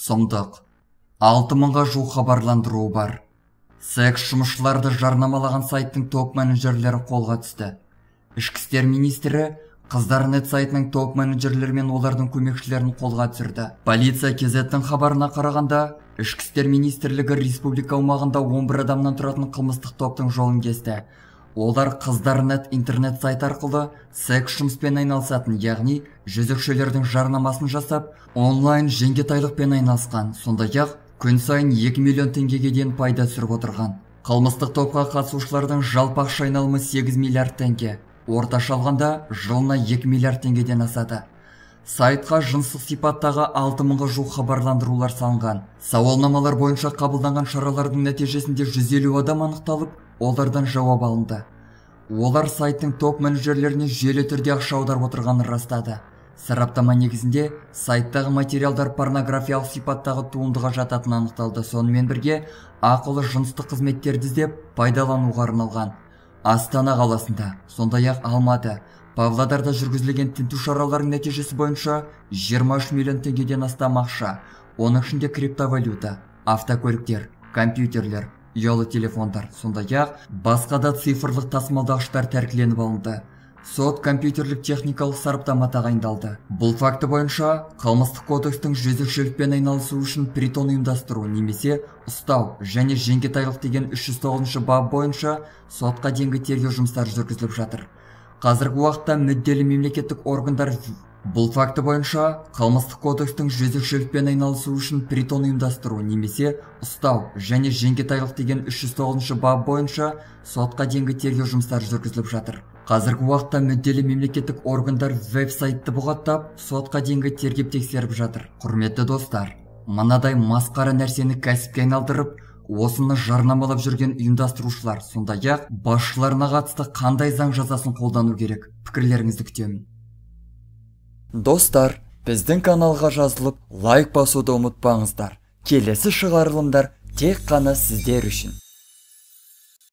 Сұмдық. 6000-ға жуық хабарландыруы бар. Секс жұмысшыларды жарнамалаған сайттың топ-менеджерлері қолға түсті. Ішкі істер министрі Қыздарнет сайтының топ-менеджерлері мен олардың көмекшілерін қолға түсірді. Полиция кезеттің хабарына қарағанда, Ішкі істер министрлігі республика аумағында 11 адамнан тұратын қылмыстық топтың жолын кесті. Олар Қыздарнет интернет сайт арқылы секс жұмыспен айналысатын, яғни жезөкшелердің жарнамасын жасап, онлайн жеңгетайлықпен айналысқан. Сондай-ақ күн сайын 2 миллион теңгеге дейін пайда түсіріп отырған. Қылмыстық топқа қатысушылардың жалпы ақша айналымы 8 миллиард теңге. Орташа алғанда жылына 2 миллиард теңгеден асады. Сайтқа жыныстық сипаттағы 6000-ға жуық хабарландырулар салынған. Сауалнамалар бойынша қабылданған шаралардың нәтижесінде 150 адам анықталып, олардан жауап алынды. Олар сайттың топ-менеджерлеріне жүйелі түрде ақша аударып отырғанын растады. Сараптама негізінде сайттағы материалдар порнографиялық сипаттағы туындыға жататыны анықталды. Сонымен бірге ақылы жыныстық қызметтерді іздеп пайдалануға арналған. Астана қаласында, сондай-ақ Алматы, Павлодарда жүргізілген тінту шараларының нәтижесі бойынша 23 миллион теңгеден астам ақша, оның ішінде криптовалюта, автокөліктер, компьютерлер, ұялы телефондар, сондай-ақ басқа да цифрлық тасымалдағыштар тәркіленіп алынды. Сот компьютерлік техникалық сараптама тағайындалды. Бұл факті бойынша қылмыстық кодекстің жезөкшелікпен айналысу үшін притон ұйымдастыру немесе ұстау және жеңгетайлық деген 309 бап бойынша сотқа дейінгі тергеу жұмыстары жүргізіліп жатыр. Қазіргі уақытта мүдделі мемлекеттік органдар бұл факті бойынша қылмыстық кодекстің жезөкшелікпен айналысу үшін притон ұйымдастыру немесе ұстау және жеңгетайлық деген 309 бап бойынша сотқа дейінгі тергеу жұмыстары жүргізіліп жатыр. Қазіргі уақытта мүдделі мемлекеттік органдар веб-сайтты бұғаттап, сотқа дейінгі тергеп тексеріп жатыр. Құрметті достар, мынадай масқара нәрсені кәсіпке айналдырып, осыны жарнамалап жүрген ұйымдастырушылар, сондай-ақ басшыларына қатысты қандай заң жазасын қолдану керек? Пікірлеріңізді күтемін. Достар, біздің каналға жазылып, лайк басуды ұмытпаңыздар. Келесі шығарылымдар тек қана сіздер үшін.